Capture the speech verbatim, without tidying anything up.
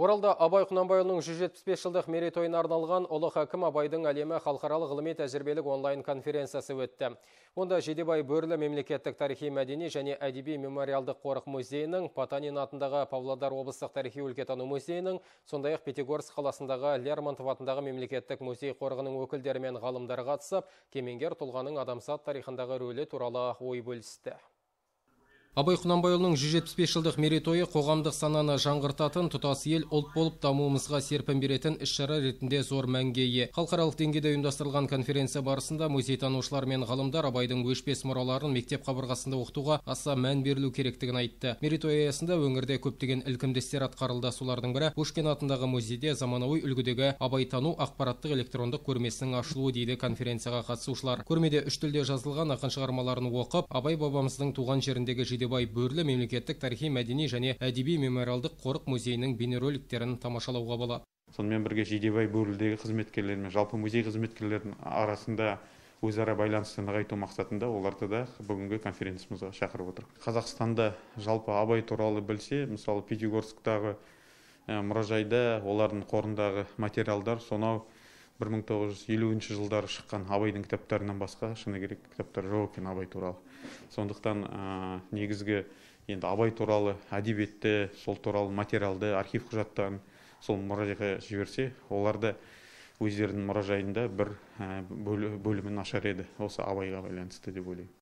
Оралда Абай Құнанбайұлының жүз жетпіс бес жылдық мерейтойына арналған Ұлы Хакім Абайдың әлемі халықаралық ғылыми тәжірибелік онлайн конференциясы өтті. Онда Жидебай Бөрлі мемлекеттік тарихи мәдени және әдеби мемориалдық қорық музейінің, Потанин атындағы Павлодар облыстық тарихи өлкетану музейінің, сондай-ақ Пятигорск қаласындағы Лермонтов атындағы мемлекеттік музей қорығының өкілдері мен ғалымдары қатысып, кемеңгер тұлғаның адамзат тарихындағы рөлі туралы ой бөлісті. Абай Құнанбайұлының жүз жетпіс бес жылдық мерейтойы қоғамдық сананы жаңғыртатын, тұтас ел ұлт болып дамуымызға серпін беретін іс-шара ретінде зор мәнге ие. Халықаралық деңгейде ұйымдастырылған конференция барысында музейтанушылар мен ғалымдар Абайдың өшпес мұраларын мектеп қабырғасында оқытуға аса мән берілу керектігін айтты. Мерейтой аясында өңірде көптеген ілкімді істер атқарылды. Солардың бірі Пушкин атындағы музейде заманауи үлгідегі абайтану ақпараттық электрондық көрмесінің ашылуы дейді конференцияға қатысушылар. Көрмеде үш тілде жазылған ақын шығармаларын оқып, Абай бабамыздың туған жеріндегі Жидебай Бөрлі мемлекеттік тарихи мәдени және әдеби мемориалдық қорық музейінің бейнероликтерін тамашалауға болады. Сонымен бірге Жидебай Бөрлідегі қызметкерлер мен жалпы музей қызметкерлерінің арасында өзара байланысты нығайту мақсатында оларды да бүгінгі конференциямызға шақырып отыр. Қазақстанда жалпы Абай туралы білсе, мысалы Пятигорсктағы мұражайда олардың қорындағы материалдар сонау бір мың тоғыз жүз елуінші жылдары шыққан Абайдың кітаптарынан басқа шыны керек кітаптар жоқ екен Абай туралы. Сондықтан негізгі енді Абай туралы әдебиетті, сол туралы материалды, архив құжаттарын сол мұражайға жіберсе, оларды өздерінің мұражайында бір бөлімін ашар еді. Осы Абайға байланысты деп ойлаймын.